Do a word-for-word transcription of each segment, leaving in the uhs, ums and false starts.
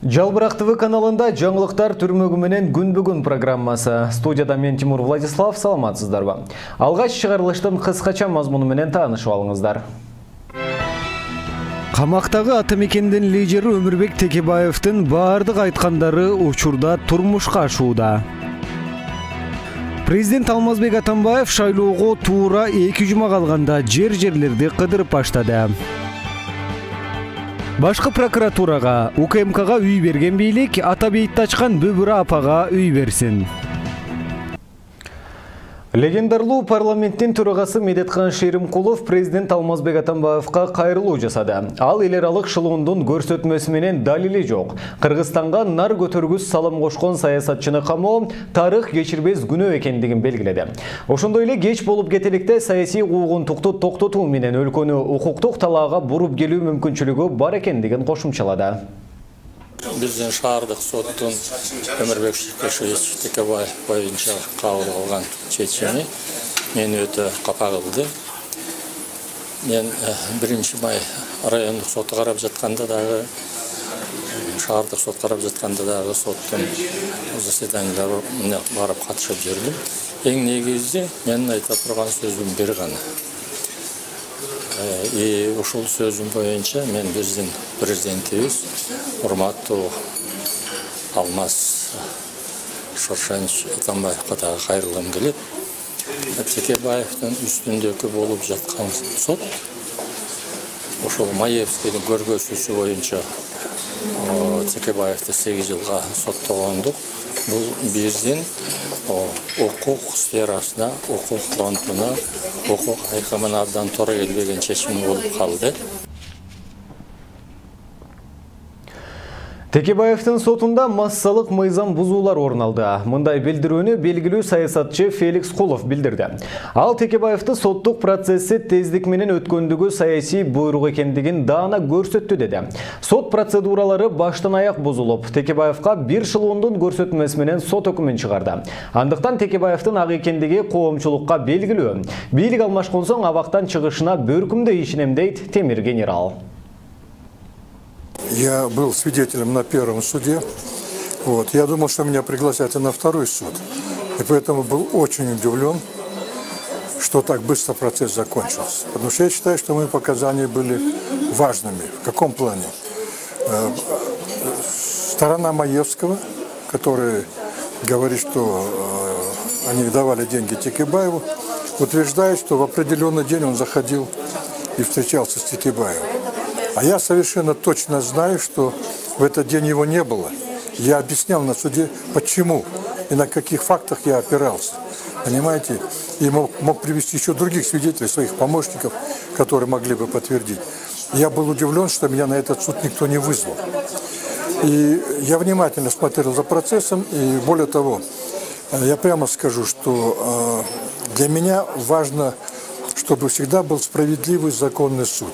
Жалбырак ТВ каналында жаңылыктар түрмөгү менен күн бүгүн программасы. Студияда мен Тимур Владислав, саламатсыздарбы? Алгач чыгарылыштын кыскача мазмуну менен таанышып алыңыздар. Камактагы Атамекендин лидери Өмүрбек Текебаевдин баардык айткандары учурда турмушка ашууда. Президент Алмазбек Атамбаев шайлоого туура эки жума калганда жер-жерлерди кыдырып баштады. Башкы прокуратурага, У К М Кга үй берген бийлик ата бейитти ачкан Бүбүрө апага үй берсин. Легендарлуу парламенттин төрагасы Медеткан Шеримкулов президент Алмазбек Атамбаевка кайрылуу жасады. Ал эл аралык шылуундун көрсөтмөсү менен далили жок. Кыргызстанга нар көтөргүс салым кошкон саясатчыны камоо тарых кечирбес күнөө экендигин белгиледи. Ошондой эле кеч болуп кетеликте саясий куугунтукту токтотуу менен өлкөнү укуктук талаага буруп келүү мүмкүнчүлүгү бар экендигин кошумчалады. Биздин шаардык соттун Өмүрбек Текебаев боюнча кабыл кылган чечими мени өтө капа кылды. Мен биринчи май райондук соту карап жатканда дагы, шаардык сот карап жатканда дагы соттун заседанияларына барып катышып жүрдүм. Эң негизи менин айта турган сөзүм бир гана. И ушул сөзүм боюнча мен биздин президентибиз урматтуу Алмаз Шоршенович Атамбаевка дагы кайрылгым келет. Текебаевдин үстүндөгү болуп жаткан сот ошол Маевскийдин көргөзүүсү боюнча Текебаевди сегиз жылга соттогондук. Бул биздин укук сферасына, укук фронтуна, укук айкымына абдан туура келбеген чечим болуп калды. Текебаевдин сотунда массалык мыйзам бузуулар орун алды. Мындай билдирүүнү белгилүү саясатчы Феликс Кулов билдирди. Ал Текебаевди соттук процесси тездик менен өткөндүгү саясий буйрук экендигин даана көрсөттү деди. Сот процедуралары баштан аяк бузулуп, Текебаевга бир шылуундун көрсөтмөсү менен сот өкүмүн чыгарды. Андыктан Текебаевдин ак экендиги коомчулукка белгилүү. Бийлик алмашкан соң абактан чыгышына бөркүмдөй ишенем дейт Темир генерал. Я был свидетелем на первом суде. Вот. Я думал, что меня пригласят и на второй суд. И поэтому был очень удивлен, что так быстро процесс закончился. Потому что я считаю, что мои показания были важными. В каком плане? Сторона Маевского, которая говорит, что они давали деньги Текебаеву, утверждает, что в определенный день он заходил и встречался с Текебаевым. А я совершенно точно знаю, что в этот день его не было. Я объяснял на суде, почему и на каких фактах я опирался. Понимаете? И мог, мог привести еще других свидетелей, своих помощников, которые могли бы подтвердить. Я был удивлен, что меня на этот суд никто не вызвал. И я внимательно смотрел за процессом, и более того, я прямо скажу, что для меня важно, чтобы всегда был справедливый законный суд.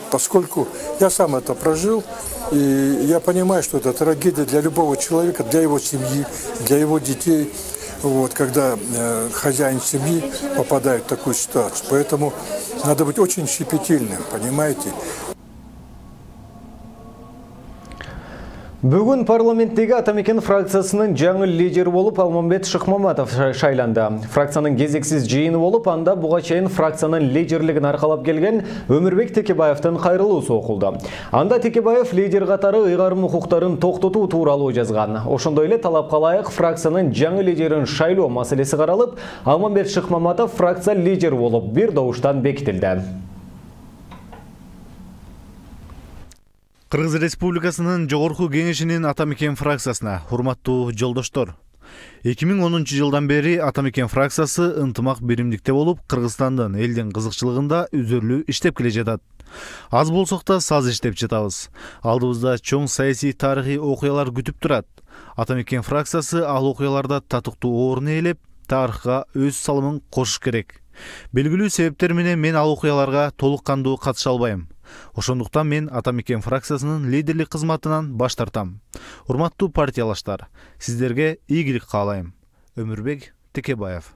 Поскольку я сам это прожил, и я понимаю, что это трагедия для любого человека, для его семьи, для его детей, вот, когда э, хозяин семьи попадает в такую ситуацию. Поэтому надо быть очень щепетильным, понимаете? Бүгүн парламенттеги Атамекен фракциясынын жаңы лидери болуп Алмамбет Шыкмаматов шайланды. Фракциянын кезексиз жыйыны болуп, анда буга чейин фракциянын лидерлигин аркалап келген Өмүрбек Текебаевдин кайрылуусу окулду. Анда Текебаев лидер катары ыйгарым укуктарын токтотуу тууралуу жазган. Ошондой эле талапка ылайык фракциянын жаңы лидерин шайлоо маселеси каралып, Алмамбет Шыкмаматов фракция лидери болуп бир добуштан бекитилди. Кыргыз Республикасынын Жогорку Кеңешинин Атамекен фракциясына урматтуу жолдоштор. эки миң онунчу жылдан бери Атамекен фракциясы ынтымак биримдикте болуп, Кыргызстандын элдин кызыкчылыгында үзөрлүү иштеп келе жатат. Аз болсок да саз иштеп жатабыз. Алдыбызда чоң саясий тарыхый окуялар күтүп турат. Атамекен фракциясы ал окуяларда татыктуу орун ээлеп, тарыхка өз салымын кошуш керек. Белгилүү себептер менен мен ал окуяларга толук кандуу катыша албайм. Ошондуктан мен Атамекен фракциясынын лидерлик кызматынан баш тартам. Урматтуу партиялаштар, сиздерге ийгилик каалайм. Өмүрбек Текебаев.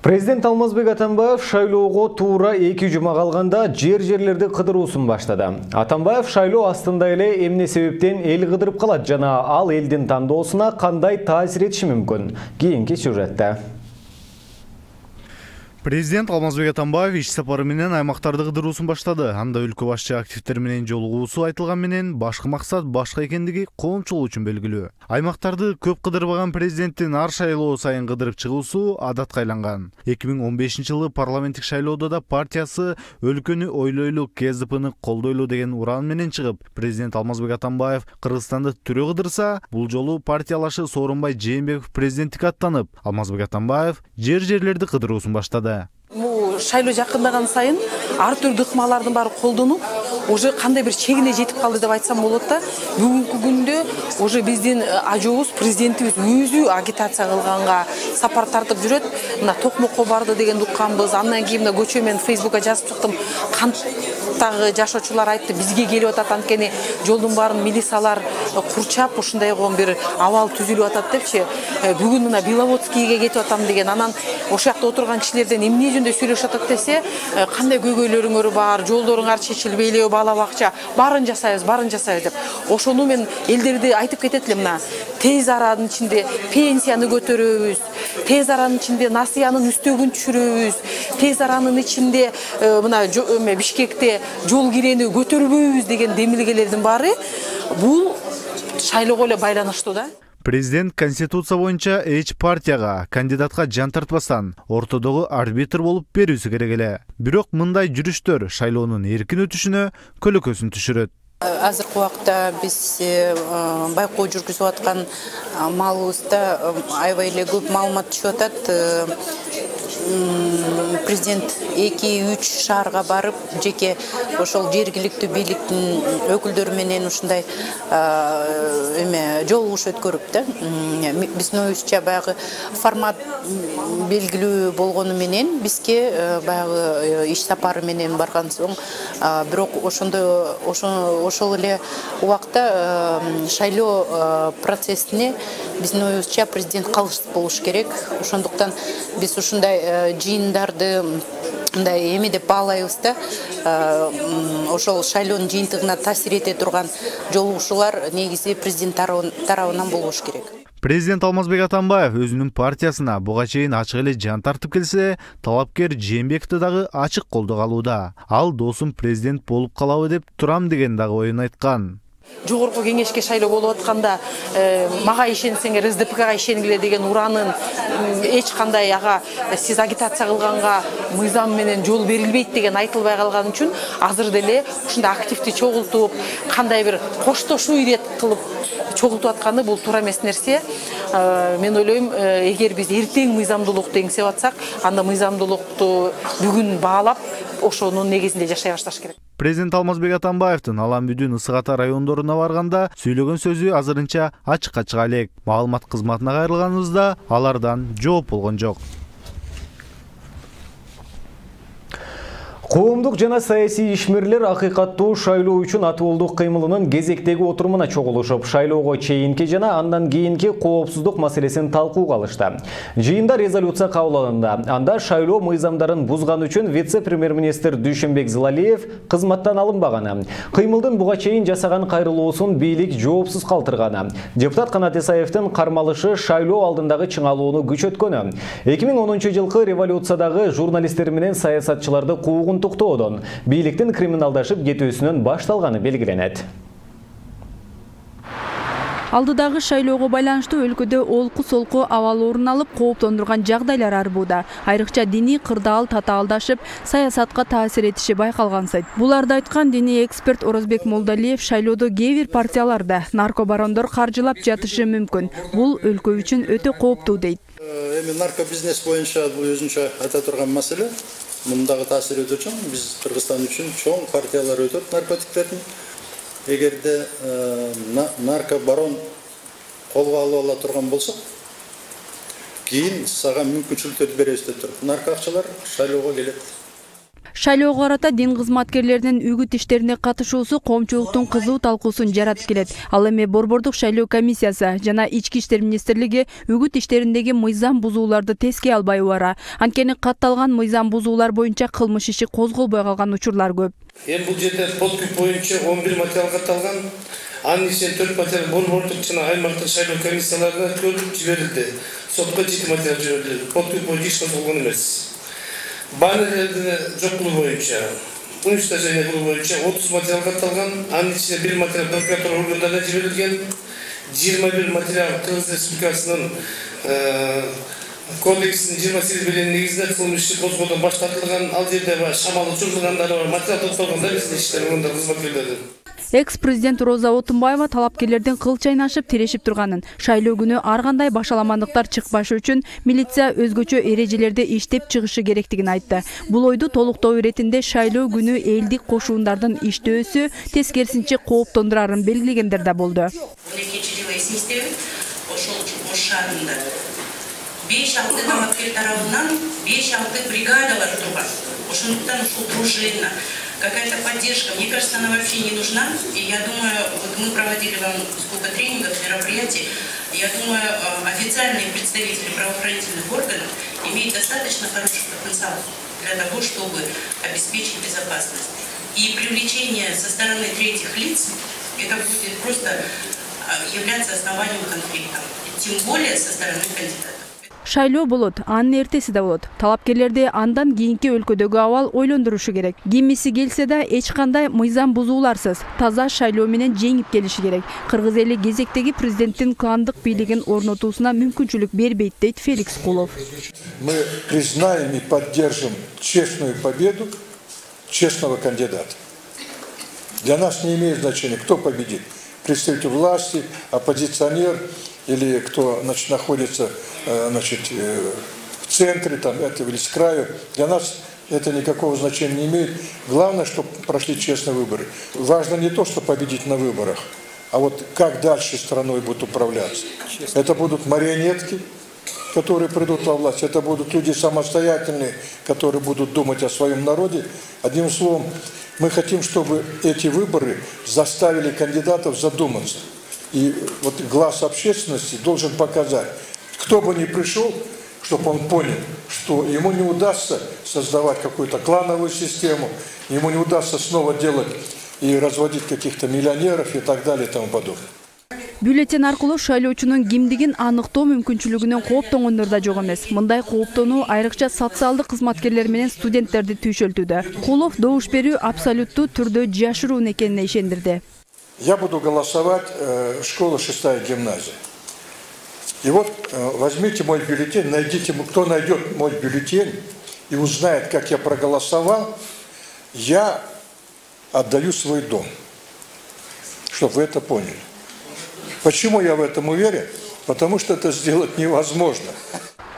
Президент Алмазбек Атамбаев шайлоого туура эки жума калганда жер жерлерди кыдыруусун баштады. Атамбаев шайлоо астында эле эмне себептен эл кыдырып калат жана ал элдин тандоосуна кандай таасир этиши мүмкүн? Кийинки сюжетте. Президент Алмазбек Атамбаев иш сапары менен аймактарды кыдыруусун баштады. Анда өлкө башчы активдер менен жолугуусу айтылган менен башкы максат башка экендиги коомчулук үчүн белгилүү. Аймактарды көп кыдырбаган президенттин ар шайлоо сайын кыдырып чыгуусу адатка айланган. эки миң он бешинчи жылы парламенттик шайлоодо да партиясы өлкөнү ойлойлу, ка зэ пэни колдойлу деген уран менен чыгып, президент Алмазбек Атамбаев Кыргызстанды түрө кыдырса, бул жолу партиялашы Сооронбай Жээнбеков президенттикке аттанып, Алмазбек Атамбаев жер жерлерди кыдыруусун баштады. Бул шайлоо жакындаган сайын ар түрдүү ыкмалардын баары колдонуп, уже кандай бир чегине жетип калды деп айтсам болот да. Бүгүнкү күндө уже биздин ажообуз президентибиз өзү агитация кылганга сапар тартып жүрөт. Мына Токмокко барды дегенди укканбыз. Андан кийин мына көчө мен Фейсбукка жазып чыктым. Канттагы жашоочулар айтты, бизге келип атат, анткени жолдун баарын милициялар курчап, ушундайгы бир абал түзүлүп атат депчи. Бүгүн мына Беловодскийге кетип атам деген, анан ошол жакта отурган кишилерден эмне жөнүндө сүйлөшүп атат десе, кандай көйгөйлөрүңөр бар, жолдоруңар чечилбейли, бала бакча, баарын жасайбыз, баарын жасайбыз деп. Ошону мен элдерди айтып кетет элем, мына тез аранын ичинде пенсияны көтөрөбүз, тез аранын ичинде насыянын үстөгүн түшүрөбүз, тез аранын ичинде мына Бишкекте жол кирени көтөрбөйбүз деген демилгелердин баары бул шайлоого эле байланыштуу да. Президент Конституция боюнча эч партияга, кандидатка жан тартпастан ортодогу арбитр болуп берүүсү керек эле. Бирок мындай жүрүштөр шайлоонун эркин өтүшүнө көлөкөсүн түшүрөт. Азыркы убакта биз байкоо жүргүзүп аткан маалыбызда аябай эле көп маалымат түшүп атат. Президент эки үч шаарга барып, жеке ошол жергиликтүү бийликтин өкүлдөрү менен ушундай эме жолугуш өткөрүп да. Биздин оюбузча баягы формат белгилүү болгону менен бизге баягы иш сапары менен барган соң, бирок ошондо ошол эле убакта шайлоо процессине биздин оюбузча президент калыс болуш керек. Ошондуктан биз ушундай жыйындарды мындай эме деп баалайбыз да. Ошол шайлоонун жыйынтыгына таасир эте турган жолугушуулар негизи президент тарабынан болуш керек. Президент Алмазбек Атамбаев өзүнүн партиясына буга чейин ачык эле жан тартып келсе, талапкер Жээнбековду дагы ачык колдоо алууда. Ал досум президент болуп калабы деп турам деген дагы оюн айткан. Жогорку кеңешке шайлоо болуп атканда мага ишенсеңер эс дэ пэ га ишенгиле деген уранын эч кандай ага сиз агитация кылганга мыйзам менен жол берилбейт деген айтылбай калган үчүн азыр деле ушундай активди чогултуп, кандай бир коштошуу ирет кылып чогултуп атканы бул туура эмес нерсе. Мен ойлойм, эгер биз эртең мыйзамдуулукту эңсеп атсак, анда мыйзамдуулукту бүгүн баалап, ошонун негизинде жашай башташ керек. Президент Алмазбек Атамбаевдин Алан Бүдүн Ысык Ата райондоруна барганда сүйлөгөн сөзү азырынча ачыкка чыга элек. Маалымат кызматына кайрылганыбызда алардан жооп болгон жок. Коомдук жана саясий ишмерлер акыйкаттуу шайлоо үчүн атуулдук кыймылынын кезектеги отурумуна чогулушуп, шайлоого чейинки жана андан кийинки коопсуздук маселесин талкууга алышты. Жыйында резолюция кабыл алынды. Анда шайлоо мыйзамдарын бузган үчүн вице-премьер-министр Дүйшөнбек Зылалиев кызматтан алынбаганы, кыймылдын буга чейин жасаган кайрылуусун бийлик жоопсуз калтырганы, депутат Канат Исаевдин кармалышы шайлоо алдындагы чыңалууну күчөткөнү, эки миң онунчу жылкы революциядагы журналисттер менен саясатчыларды куугун токтоодон бийликтин криминалдашып кетүүсүнөн башталганы белгиленет. Алдыдагы шайлоого байланыштуу өлкөдө олку-солку абал орун алып, кооптондурган жагдайлар арбууда. Айрыкча диний кырдаал татаалдашып, саясатка таасир этиши байкалгансайт. Буларды айткан диний эксперт Орозбек Молдалиев шайлоодо кээ бир партияларда наркобарондор каржылап жатышы мүмкүн. Бул өлкө үчүн өтө кооптуу дейт. Эми наркобизнес боюнча бул өзүнчө айта турган маселе. Мындагы таасир өтө чоң, биз Кыргызстан үчүн чоң партиялар өтөт наркотиктердин. Эгерде наркобарон колго алып ала турган болсок, кийин сага мүмкүнчүлүктөрдү беребиз деп туруп, нарко акчалар шайлоого келет. Шайлоого карата дин кызматкерлеринин үгүт иштерине катышуусу коомчулуктун кызуу талкуусун жаратып келет. Ал эми Борбордук шайлоо комиссиясы жана Ички иштер министрлиги үгүт иштериндеги мыйзам бузууларды теске албай убара. Анткени катталган мыйзам бузуулар боюнча кылмыш иши козголбой калган учурлар көп. Эми бул жерде подкуп боюнча он бир материал катталган. Анын ичинен төрт материал борбордук жана аймактык шайлоо комиссияларына өткөрүлүп жиберилди. Сотко жети материал жиберилди. Подкуп боюнча иш козголгон эмес. Баннерлерди жокулуу боюнча, уничтожение кылуу боюнча отуз материал катталган. Анын ичинен бир материал прокуратура органдарына жиберилген. жыйырма бир материал Кыргыз Республикасынын кодексинин жыйырма сегиз беленин негизинде кылмыш иши козгоодон баш тартылган. Ал жерде шамал учурдагандары бар, материал топтолгон да биздин иштер органдар кызматкерлердин. Экс-президент Роза Отунбаева талапкерлердин кыл чайнашып тирешип турганын, шайлоо күнү ар кандай башаламандыктар чыкпашы үчүн милиция өзгөчө эрежелерде иштеп чыгышы керектигин айтты. Бул ойду толуктоо иретинде шайлоо күнү элдик кошуундардын иштөөсү тескерисинче кооптондурарын белгилегендер да болду. беш алты талапкер тарабынан беш алты бригадалар турган. Ошондуктан ушул дружина, какая-то поддержка, мне кажется, она вообще не нужна. И я думаю, вот мы проводили вам сколько тренингов, мероприятий, я думаю, официальные представители правоохранительных органов имеют достаточно хороший потенциал для того, чтобы обеспечить безопасность. И привлечение со стороны третьих лиц, это будет просто являться основанием конфликта, тем более со стороны кандидата. Шайлоо болот, анын эртеси да болот. Талапкерлерди андан кийинки өлкөдөгү абал ойлондурушу керек. Кимиси келсе да эч кандай мыйзам бузууларсыз, таза шайлоо менен жеңип келиши керек. Кыргыз эли кезектеги президенттин кландык бийлигин орнотуусуна мүмкүнчүлүк бербейт, дейт Феликс Кулов. Мы признаем и поддержим честную победу честного кандидата. Для нас не имеет значения, кто победит. Представитель власти, оппозиционер или кто, значит, находится, значит, в центре там, этого или с краю. Для нас это никакого значения не имеет. Главное, чтобы прошли честные выборы. Важно не то, что победить на выборах, а вот как дальше страной будут управляться. Это будут марионетки, которые придут во власть. Это будут люди самостоятельные, которые будут думать о своем народе. Одним словом, мы хотим, чтобы эти выборы заставили кандидатов задуматься. И вот глаз общественности должен показать, кто бы ни пришел, чтобы он понял, что ему не удастся создавать какую-то клановую систему, ему не удастся снова делать и разводить каких-то миллионеров и так далее и тому подобное. Бюллетень аркылуу шайлоочунун кимдигин аныктоо мүмкүнчүлүгүнөн кооптонгондор да жок эмес. Мындай кооптонуу айрыкча социалдык кызматкерлер менен студенттерди түйшөлтүүдө. Кулов добуш берүү абсолюттуу түрдө жашыруун экенине ишендирди. Я буду голосовать э, школа шестая гимназия. И вот э, возьмите мой бюллетень, найдите, кто найдет мой бюллетень и узнает, как я проголосовал, я отдаю свой дом, чтобы вы это поняли. Почему я в этом уверен? Потому что это сделать невозможно.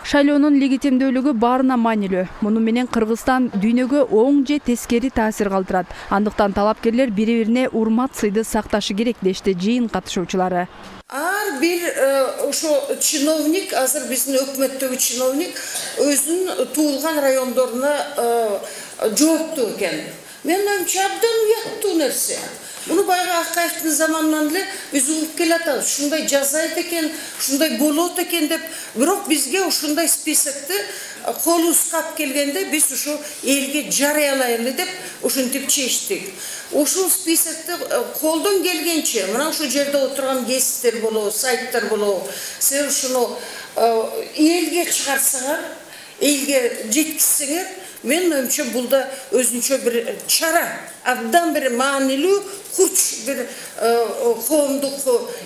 Шайлоонун легитимдүүлүгү баарына маанилүү. Муну менен Кыргызстан дүйнөгө оң же тескери таасир калтырат. Андыктан талапкерлер бири-бирине урмат сыйды сакташы керек, дешти жыйын катышуучулары. Ар бир ошо чиновник, азыр биздин өкмөттөгү чиновник өзүнүн туулган райондоруна жооптуу экен. Мен ойымча абдан уяттуу нерсе. Bunu bayağı Akayev'in zamanından bile biz uğup kelatız. Şunday cazayet eken, şunday bolot eken de, bırak bizge şunday spisekti, kolu uskap gelgende biz şu elge jarayalayın edip, şun tip çeştik. O şu spisekti koldan gelgençe, mına şu yerde oturan gezitler bolo, saytlar bolo, sen şunu elge çıkarsalar, elge jetkisinger, men oyumcha bulda özünçe bir çara, abdan bir manilүү, kurç bir коомдук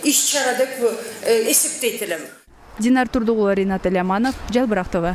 iş çaradek esepteytilim. Динар Турдугулова, Ринат Эляманов, Жалбырак ТВ.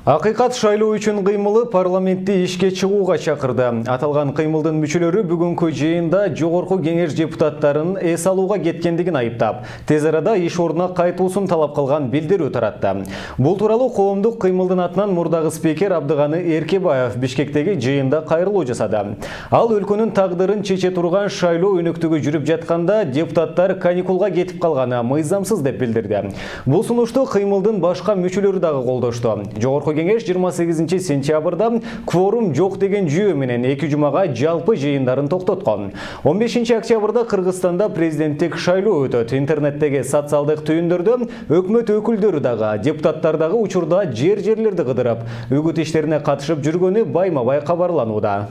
Акыйкат шайлоо үчүн кыймылы парламентти ишке чыгууга чакырды. Аталган кыймылдын мүчөлөрү бүгүнкү жыйында жогорку кеңеш депутаттарын эс алууга кеткендигин айыптап, тез арада иш ордуна кайтуусун талап кылган билдирүү таратты. Бул тууралуу коомдук кыймылдын атынан мурдагы спикер Абдыганы Эркебаев Бишкектеги жыйында кайрылуу жасады. Ал өлкөнүн тагдырын чече турган шайлоо өнөктүгү жүрүп жатканда депутаттар каникулга кетип калганы мыйзамсыз деп билдирди. Бул сунушту кыймылдын башка мүчөлөрү дагы колдошту. Жогорку кеңеш жыйырма сегизинчи сентябрда кворум жок деген жүйө менен эки жумага жалпы жыйындарын токтоткон. он бешинчи октябрда Кыргызстанда президенттик шайлоо өтөт. Интернеттеги социалдык түйүндөрдө өкмөт өкүлдөрү дагы, депутаттар дагы учурда жер-жерлерди кыдырып, үгүт иштерине катышып жүргөнү байма-бай кабарланууда.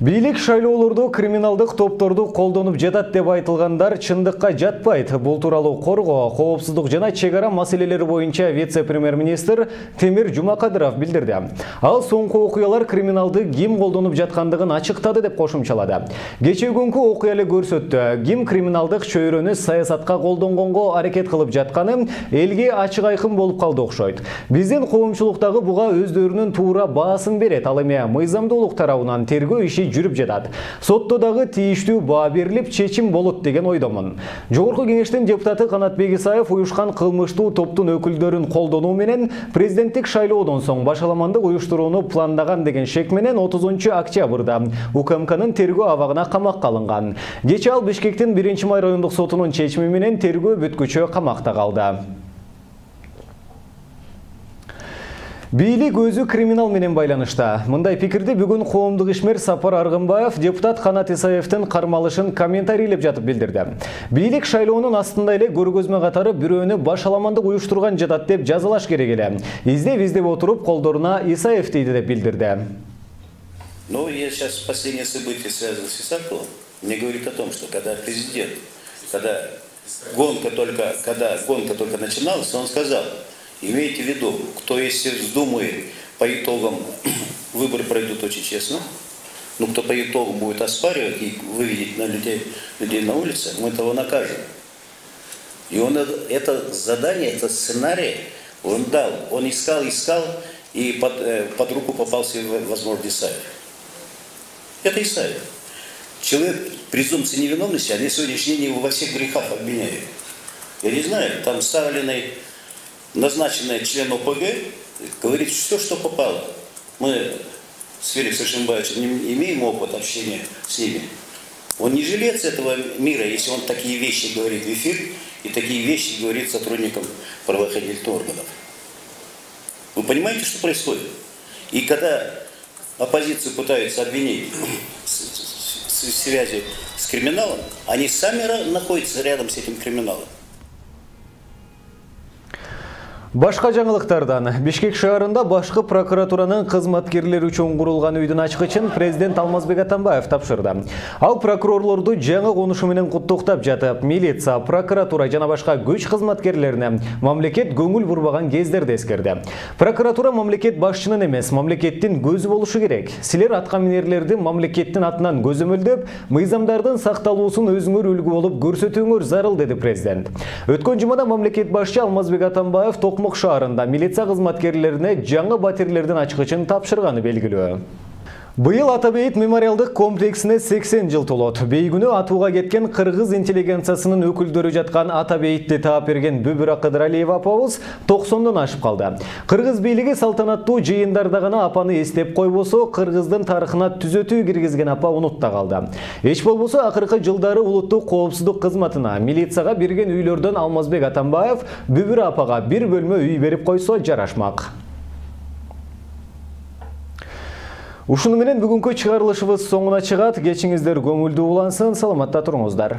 Бийлик шайлоолорду криминалдык топторду колдонуп жатат деп айтылгандар чындыкка жатпайт. Бул тууралуу Коргоо, коопсуздук жана чек ара маселелери боюнча вице-премьер-министр Темир Жумакадыров билдирди. Ал соңку окуялар криминалды ким колдонуп жаткандыгын ачыктады деп кошумчалады. Кечээ күнкү окуя эле көрсөттү. Ким криминалдык чөйрөнү саясатка колдонгонго аракет кылып жатканы элге ачык айкын болуп калды окшойт. Биздин коомчулуктагы буга өздөрүнүн туура баасын берет. Ал эми мыйзамдуулук тарабынан тергөө иши жүрүп жатат. Сотто дагы тийиштүү баа берилип, чечим болот деген ойдомун. Жогорку кеңештин депутаты Канатбек Исаев уюшкан кылмыштуу топтун өкүлдөрүн колдонуу менен президенттик шайлоодон соң башаламандык уюштурууну пландаган деген шек менен отузунчу октябрда УКМКнын тергөө абагына камакка алынган. Кечээ ал Бишкектин биринчи май райондук сотунун чечими менен тергөө бүткүчө камакта калды. Бийлик өзү криминал менен байланышта. Мындай пикирди бүгүн коомдук ишмер Сапар Аргынбаев депутат Канат Исаевдин кармалышын комментарийлеп жатып билдирди. Бийлик шайлоонун астында эле көргөзмө катары бирөөнү башаламандык уюштурган жатат деп жазалаш керек эле. Издеп издеп отуруп колдоруна Исаев дейди деп билдирди. Но я сейчас последнее событие связано с Исаковым, мне говорит о том, что когда президент, когда гонка только, когда гонка только начиналась, он сказал: имейте в виду, кто если вздумает по итогам выборы пройдут очень честно, но кто по итогам будет оспаривать и выведет на людей, людей на улице, мы того накажем. И он это задание, это сценарий он дал, он искал, искал, и под, под руку попался, возможно, Исаев. Это Исаев. Человек презумпции невиновности, они сегодняшний день его во всех грехах обвиняют. Я не знаю, там Сталиной назначенный член ОПГ говорит все, что попало. Мы с Феликсом Шимбаевичем не имеем опыт общения с ними. Он не жилец этого мира, если он такие вещи говорит в эфир и такие вещи говорит сотрудникам правоохранительных органов. Вы понимаете, что происходит? И когда оппозицию пытаются обвинить в связи с криминалом, они сами находятся рядом с этим криминалом. Башка жаңылыктардан Бишкек шаарында башкы прокуратуранын кызматкерлери үчүн курулган үйдүн ачкычын президент Алмазбек Атамбаев тапшырды. Ал прокурорлорду жаңы конушу менен куттуктап жатып, милиция, прокуратура жана башка күч кызматкерлерине мамлекет көңүл бурбаган кездерди эскерди. Прокуратура мамлекет башчынын эмес, мамлекеттин көзү болушу керек. Силер аткаминерлерди мамлекеттин атынан көзөмөлдөп, мыйзамдардын сакталуусун өзүңөр үлгү болуп көрсөтүүңөр зарыл, деди президент. Өткөн жумада мамлекет башчы Алмазбек Атамбаев Токмок шаарында милиция кызматкерлерине жаңы батирлердин ачкычын тапшырганы белгилүү. Быйыл Атабейит мемориалдык комплексине сексен жыл толот. Бейгүнү атууга кеткен кыргыз интеллигенциясынын өкүлдөрү жаткан Атабейтти таап берген Бүбүра Кыдыралиева апабыз токсондон ашып калды. Кыргыз бийлиги салтанаттуу жыйындарда гана апаны эстеп койбосо, кыргыздын тарыхына түзөтүү киргизген апа унутта калды. Эч болбосо акыркы жылдары улуттук коопсуздук кызматына, милицияга берген үйлөрдөн Алмазбек Атамбаев Бүбүра апага бир бөлмө үй берип койсо жарашмак. Ушуну менен бүгүнкү чыгарылышыбыз соңуна чыгат. Кечиңиздер көңүлдүү улансын, саламатта туруңуздар.